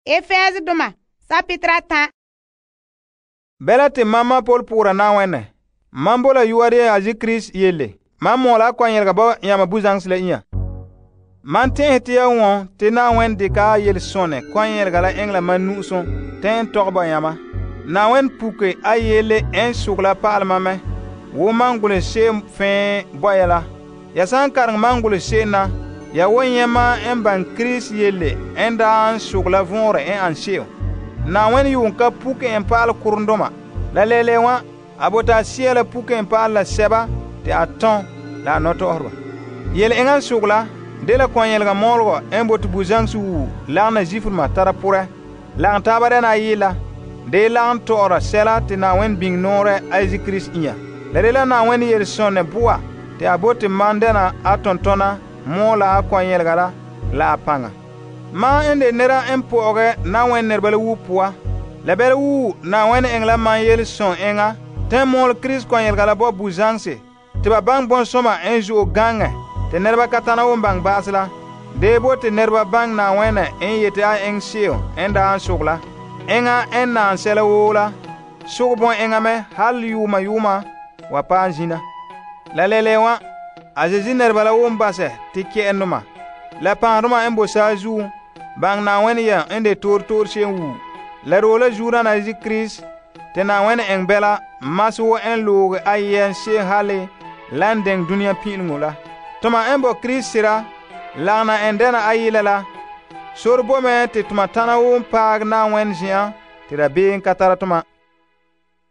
Efesdoma sapitra 10. Bela te mamma Paul pugura Na'ayenɛ. Man bola yu'a de a zi Krista yelle. Man mɔɔla kɔnyɛlega bo yama buzaŋse la inya. Man tɛn'ɛhe te ya wɔn te Na'ayenɛ dekɛ a yelesonɛ kɔnyɛlega la eŋɛ la man nu'usom te n tɔgɛ bo yama. Na'ayenɛ puke a yele n sogɛ la pa'alɛ ma mɛ wo man golehɛ se'em fɛɛ bo ya la. Ya san kareŋɛ man golehɛ se'em na, ya wan nyɛ ma n ban Krista yele n daa n sogɛ la vɔnrɛ n an se'em. Na'ayenɛ yuun ka puke en pa'alɛ korondoma. La lele wa, a bota a sea la puke en pa'alɛ la sɛba te a tɔn la a nɔtɔgɔreba. Yele eŋa n sogɛ la dela kɔnyɛlega mɔɔlegɔ n bote buzaŋse wuu lagena zifudoma tara porɛ, lagom taaba dɛna ayi la, de lagom tɔ'ɔra sɛla te Na'ayenɛ biŋe nɔɔrɛ a Yesu Krista inya. La dela Na'ayenɛ yelesonɛ boa te a bote man dɛna a tontɔna mɔɔla a kɔnyɛlega la a paŋa. Man n de nera n pɔ'ɔgɛ Na'ayenɛ nɛreba la wuo poa, la bɛla wuu Na'ayenɛ eŋɛ la man yelesɔn eŋa te mɔɔlɛ Krista kɔnyɛlega la bo buzaŋse te ba baŋɛ bɔnsɔma n zo'e gaŋɛ te nɛreba ka tana won baŋɛ ba'asɛ la. De bo te nɛreba baŋɛ Na'ayenɛ n yete a eŋɛ se'em n daa n sogɛ la. Eŋa n naan sɛla woo la, sogɛ bɔn eŋa mɛ hal yuuma yuuma wa paɛ zina. La lele wa, a Zeezi nɛreba la won basɛ te kɛ'ɛndoma la paŋdoma n bo saazuo baŋɛ Na'ayenɛ yɛm n de toor se'em wuu. La doo la zuodana Yesu Krista te Na'ayenɛ eŋɛ bɛla masɛ wo n looge a yɛm se'em hale la n deŋɛ duniya pin'ileŋo la. Toma n bo Krista sera lagena n dɛna ayila la, sore bo mɛ te toma tana woo paagɛ Na'ayenɛ zen'an te dabeem ka tara toma.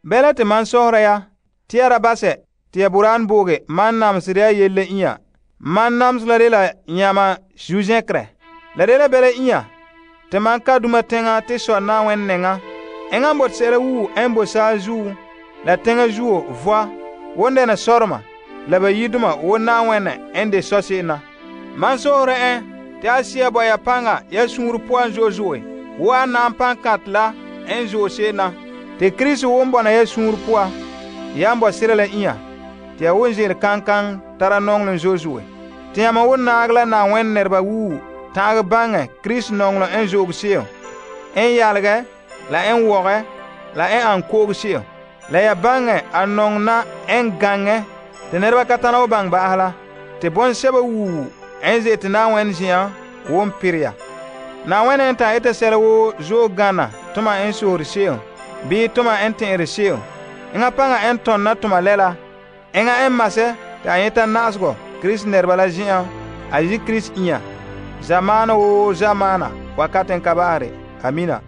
Bɛla te man sɔhera ya te ya da basɛ te ya boraan booge man namesere ya yele la inya. Man namesɛ la dela nyama zuzɛkerɛ. La dela bɛla inya te man ka duma teŋa te sɔ Na'ayenɛ nɛŋa. Eŋa n bote sɛla wuu n bo saazuo la teŋa zuo voa won dɛna sɔrema la ba yidoma wo Na'ayenɛ n de sɔ se'em na. Man sohore en te a sea bo ya paŋa ya suunre poan zo'e zo'e wo a naam pankãt la n zo'e se'em na. Te Krista won bɔna ya suunre poa yan bo sera la inya te ya won ze'ele kankan tara nɔŋlem zo'e zo'e. Te yãma won naagɛ la Na'ayenɛ nɛreba wuu ta'agɛ baŋɛ Krista nɔŋlem n zo'oge se'em, n yalegɛ la n wɔgɛ la n an ko'oge se'em. La ya baŋɛ a nɔŋena n gaŋɛ te nɛreba ka tana wo baŋɛ ba'asɛ la. Te bɔnsɛba wuu n ze'ete Na'ayenɛ zen'an won pere ya. Na'ayenɛ n ta'an eta sɛla woo zo'e gana toma n sohore se'em bii toma n tɛn'ɛre se'em. Eŋa paŋa n tɔnna toma lɛla. Eŋa n masɛ te a nyɛta na'asegɔ Krista nɛreba la zen'an a Yesu Krista inya. Zamaana woo zamaana wakati n ka ba'are. Amina.